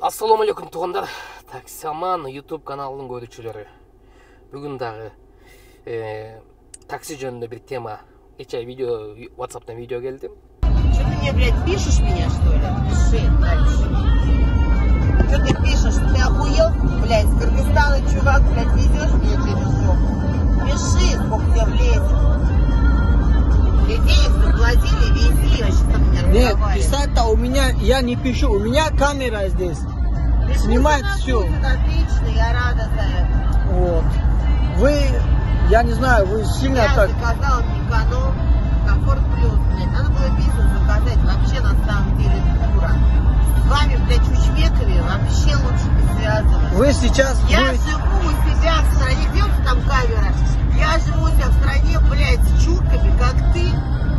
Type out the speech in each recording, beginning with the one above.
Ассаламу алейкум туугандар. Таксаман YouTube каналынын көрүүчүлөрү. Бүгүн дагы такси жөнүндө бир тема. Кече видео WhatsApp'тан видео келди. Что ты мне, блядь, пишешь меня, что ли? Пиши дальше. Что ты пишешь? Ты охуел? Блядь, с Кыргызстана, чувак, блядь, везешь мне петушок. Пиши, сколько тебе влезет. Мне денег заплатили, вези, вообще там меня Нет, разговаривать. писать-то у меня, я не пишу, у меня камера здесь. Пиши, Снимает что все. напишет, отлично, я рада за это. Вот. Вы, я не знаю, вы сильно Я так... заказала эконом, комфорт плюс, блядь. Надо было бизнес заказать, вообще на самом деле дура. С вами, блядь, чучмеками вообще лучше не связываться. Вы сейчас... Я вы- живу у себя в стране, где там камера? Я живу у себя в стране, блядь, с чурками, как ты.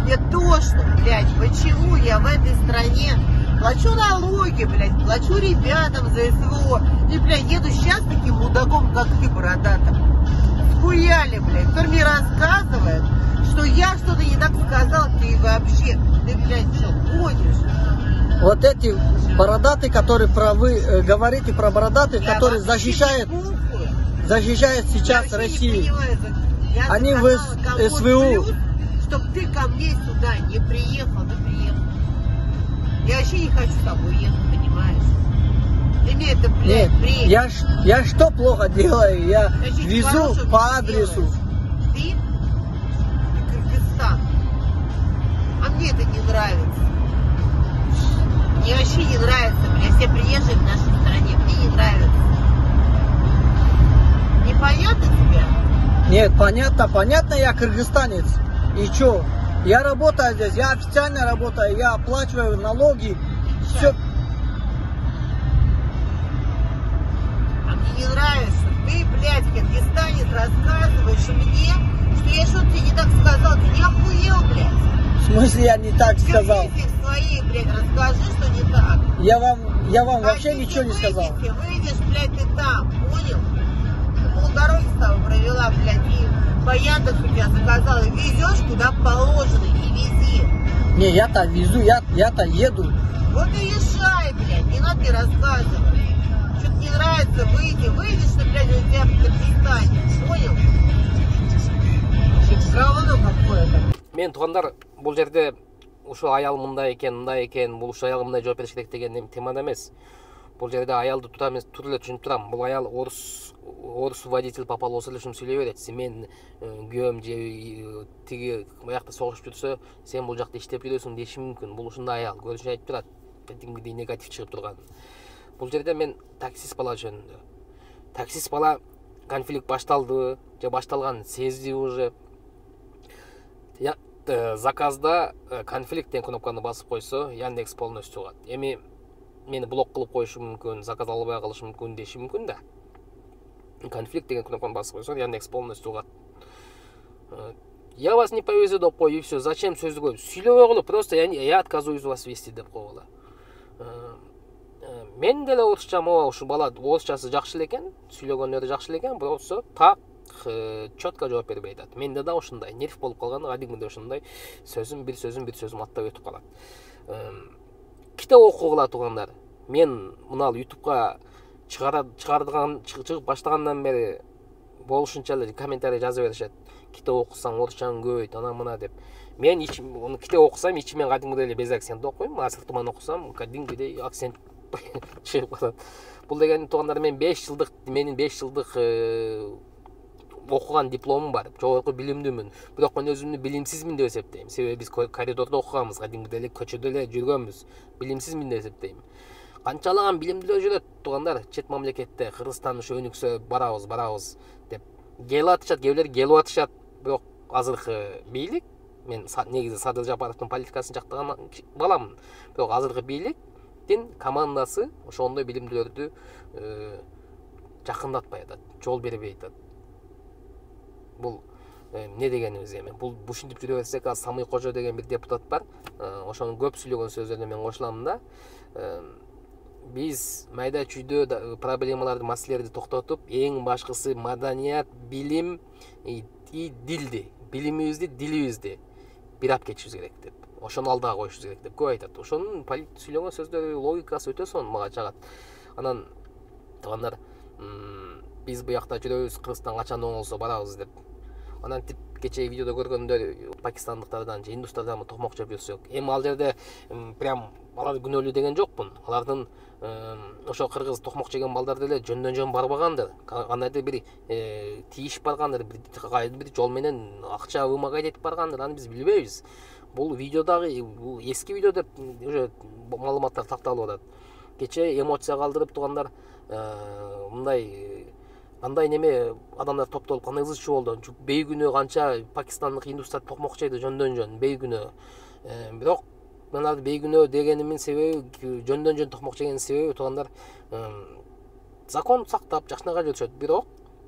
Мне тошно, блядь, почему я в этой стране плачу налоги, блядь, плачу ребятам за СВО. И, блядь, еду сейчас таким мудаком, как ты, бородатым. Хуяли, блядь, кто мне рассказывает, что я что-то не так сказал, ты вообще, ты, блядь, что, гонишь? Вот эти бородатые, которые про вы говорите про бородатых, Я которые вообще защищают сейчас Я вообще не Россию. понимаю, я Они в заказала комфорт СВУ. плюс, чтоб ты ко мне сюда не приехал, ты приехал. Я вообще не хочу с тобой ехать, понимаешь? Ты мне это, блядь, Нет, бредишь. я что плохо делаю? Я Значит, везу хорошего по ты адресу. делаешь. Ты и Кыргызстан. А мне это не нравится. Мне вообще не нравится, блядь, все приезжие в нашей стране. Мне не нравится. Непонятно тебе? Нет, понятно, я кыргызстанец. И чё? Я работаю здесь, я официально работаю, я оплачиваю налоги. Все. А мне не нравится. Ты, блядь, кыргызстанец, рассказываешь мне, что я что-то тебе не так сказал. Ты не охуел, блядь? В смысле я не так сказал? Вернись в своей, блядь, расскажи, что не так. Я вам вообще Хотите, ничего не сказал. Выйдешь, блядь, ты там, понял? Полдороги с тобой провела, блядь, и по Яндексу тебя заказала. Везешь куда положено, и вези. Не, я-то везу, я-то еду. Вот и езжай, блядь, не надо мне рассказывать. Что-то не нравится, выйдешь ты, блядь, у тебя в Кыргызстане, понял? Говно какое-то. Мен туугандар, бул жерде ушу аял мындай экен, бул ушу аял мындай жооп бериш керек деген темада эмес. Бул жерде аялды тута эле түшүнүп турам. Бул аял орус водитель попал болсо эле ушуну сүйлөй берет. Мен күйөөм же тиги буякта согушуп жүрсө, сен бул жакта иштеп жүрөсүң деши мүмкүн. Бул ушундай аял көрүнүшүн айтып турат. Кадимгидей негатив чыгып турган. Бул жерде мен таксист бала жөнүндө. Таксист бала конфликт башталдыбы же башталганын сезди уже. Заказда конфликт деген кнопканы басып койсо, Яндекс полностью чыгат. Эми мени блок кылып коюшу мүмкүн, заказ албай калышы мүмкүн деши мүмкүн да. Конфликт деген кнопканы басып койсо, Яндекс полностью чыгат. Я вас не повезу деп кой, и все. Зачем сөздү көп? Сүйлөбөй коелу, просто я отказываюсь вас вести деп койгула. Мен деле орусчам, ушу бала орусчасы жакшы эле экен, сүйлөгөнү жакшы эле экен, бирок так четко жооп бербей атат. Менде да ушундай нерв болуп калган, кадимгидей ушундай бир сөзүм аттап өтүп калат. Китеп окугула туугандар. Мен мына YouTube'га чыгып баштагандан бери болушунча эле комментарий жаза беришет. Китеп окусаң орусчаң көбөйт, ана мына деп. Мен аны китеп окусам, ичимен кадимгидей эле без акцент окуйм, асыл туман окусам, кадимгидей акцент чыгып калат. Бул деген туугандар, менин 5 жылдык окуган дипломум бар, жогорку билимдүүмүн. Бирок мен өзүмдү билимсизмин деп эсептейм. Себеби биз коридордо окуганбыз, кадимгидей эле көчөдө эле жүргөнбүз. Билимсизмин деп эсептейм. Канчалаган билимдүүлөр жүрөт туугандар, чет мамлекетте, Кыргызстан ушу өнүксө барабыз деп келип атышат, кээбилер келип атышат. Бирок азыркы бийлик, мен негизи Садыр Жапаровдун политикасын жактаган баламын. Бирок азыркы бийликтин командасы ошондой билимдүүлөрдү жакындатпай атат, жол бербей атат. Бул не дегенибиз эми? Бул ушинтип жүрө берсек, азыр Самый Кожо деген бир депутат бар. Ошонун көп сүйлөгөн сөздөрүнө мен кошулам да. Биз майда чүйдө проблемаларды, маселелерди токтотуп, эң башкысы маданият, билим и дилди, билимибизди, дилибизди бир ап кетишибиз керек деп. Ошону алдыга коюшубуз керек деп көп айтат. Ошонун сүйлөгөн сөздөрү, логикасы өтө сонун, мага жагат. Анан туугандар, биз буякта жүрөбүз, Кыргызстан качан оңолсо барабыз деп. Анан тип кечээ видеодо көргөндөр пакистандыктардан же индустардан токмок жеп жүрсөк, эми ал жерде прям алар күнөөлүү деген жокмун. Алардын ошо кыргыз токмок жеген балдар деле жөндөн-жөн барбагандыр. Кандайдыр бир тийиш баргандыр, бир жол менен акча вымогать этип баргандыр, аны биз билбейбиз. Бул видеодагы бул эски видео деп уже маалыматтар такталып атат. Кечээ эмоция калтырып туугандар, мындай кандай неме адамдар топтолуп кандай ызычуу болду. Бейгүнөө канча пакистандык индустар токмок жейди жөндөн-жөн бейгүнөө. Бирок мен арды бейгүнөө дегенимдин себеби, жөндөн-жөн токмок жегенин себеби туугандар, закон сактап жакшынакай жүрүшөт. Бирок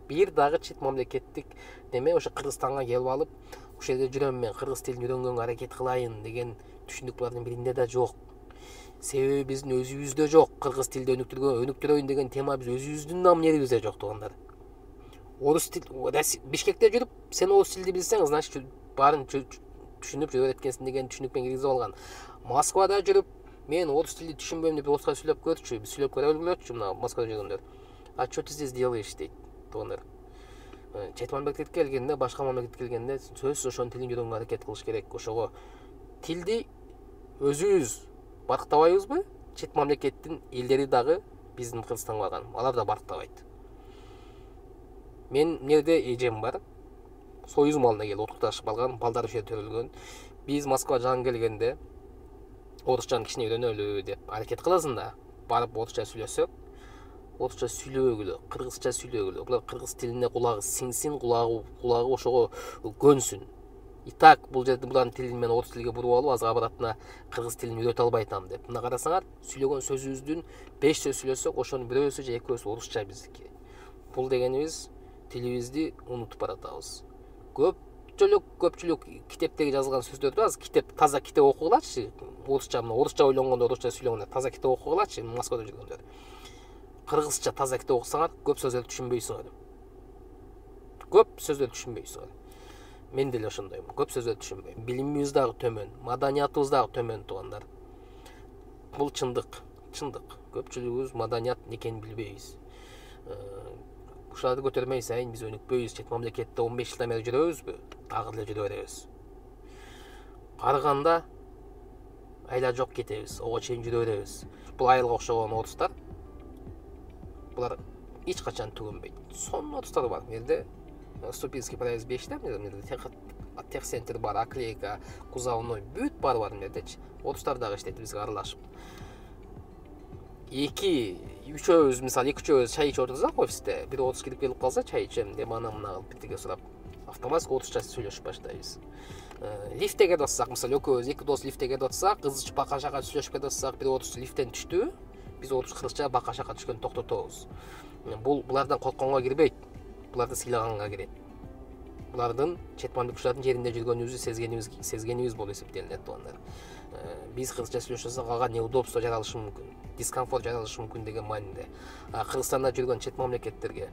бир дагы чет мамлекеттик неме ошо Кыргызстанга келип алып, ошол жерде жүрөм мен, кыргыз тилин үйрөнгөнгө аракет кылайын деген түшүнүк булардын биринде да жок. Себеби биздин өзүбүздө жок. Кыргыз тилди өнүктүрөйүн деген тема биз өзүбүздүн намнерибизде жок туугандар. Орус тил Бишкекте жүрүп, сен орус тилди билсең, значит баарын түшүнүп жүрө эткенсиң деген түшүнүкпен киргизип алган. Москвада жүрүп, мен орус тилди түшүнбөйм деп орусча сүйлөп көрчү, сүйлөп көрө билчү мына Москвада жүргөндөр. А что ты здесь делаешь дейт туугандар. Чет мамлекетке келгенде, башка мамлекетке келгенде сөзсүз ошонун тилин үйрөнгөнгө аракет кылыш керек. Ошого тилди өзүбүз барктабайбызбы? Чет мамлекеттин элдери дагы биздин Кыргызстанга барган. Алар да барктабайт. Мен жерде эжем бар. Союз малына келип отукташып алган, балдар ошо жерде төрөлгөн. Биз Москва жан келгенде орусчаны кичине үйрөнөлү деп аракет кыласың да, барып орусча сүйлөсөк, орусча сүйлөбөгүлө, кыргызча сүйлөгүлө. Булар кыргыз тилине кулагы сиңсин, кулагы ошого көнсүн. И так бул жерде булардын тилин мен орус тилге буруп алып, азыр абратына кыргыз тилин үйрөтө албай атам деп. Мына карасаңар, сүйлөгөн сөзүбүздүн 5 сөз сүйлөсөк, ошонун бирөөсү же экөөсү орусча биздики. Бул дегенибиз тилибизди унутуп баратабыз. Көпчүлүк китептеги жазылган сөздөрдү азыр китеп, таза китеп окугулачы. Орусча ойлонгондо, орусча сүйлөгөндө таза китеп окугулачы, Москвада жүргөндөр. Кыргызча таза китеп окусаңар, көп сөздөрдү түшүнбөйсүңөр. Көп сөздөрдү түшүнбөйсүңөр. Мен деле ошондоймун. Көп сөздөрдү түшүнбөйм. Билимибиз дагы төмөн, маданиятыбыз дагы төмөн туугандар. Бул чындык. Көпчүлүгүбүз маданият экенин билбейбиз. Ушуларды көтөрмөй сайын биз өнүкпөйбүз. Чет мамлекетте 15 жылдан бери жүрөбүзбү? Дагы деле жүрө беребиз. Карыганда айла жок кетебиз. Ого чейин жүрө беребиз. Бул айылга окшогон орустар, булар эч качан түгөнбөйт. Сонун орустар бар. Жерде Ступинский проезд 5-те, техцентр бар, оклейка, кузовной, бүт бар жердечи. Орустар дагы иштейт бизге аралашып. Үчөөбүз, мисалы, үчөөбүз чай ичип отурсак офисте, бир орус кирип келип калса, чай ичем деп ана мына кылып бирдеге сурап, автоматик орусча сүйлөшүп баштайбыз. Лифтте кетип атсак, мисалы, экөөбүз эки дос лифтте кетип атсак, кызча бака-шака сүйлөшүп кетип атсак, бир орус лифттен түштү, биз орус кыргызча бака-шака түшкөндө токтотобуз. Булардан коркконго кирбейт. Буларды сыйлаганга кирет. Булардын чет мамлекеттин жеринде жүргөнүбүздү сезгенибиз болуп эсептелинет туугандар. Биз кыргызча сүйлөшсөк, ага неудобство жаралышы мүмкүн, дискомфорт жаралышы мүмкүн деген маанинде. Кыргызстанда жүргөн чет мамлекеттерге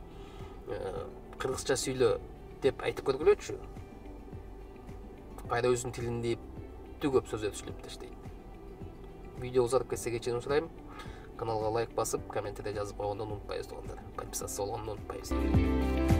кыргызча сүйлө деп айтып көргүлөчү. Кайра өзүнүн тилинде көп сөздөрдү сүйлөп таштайт. Видео узарып кетсе кечирим сурайм. Каналга лайк басып, комментарий жазып койгондон унутпайбыз туугандар. Подписаться болгондон унутпайбыз.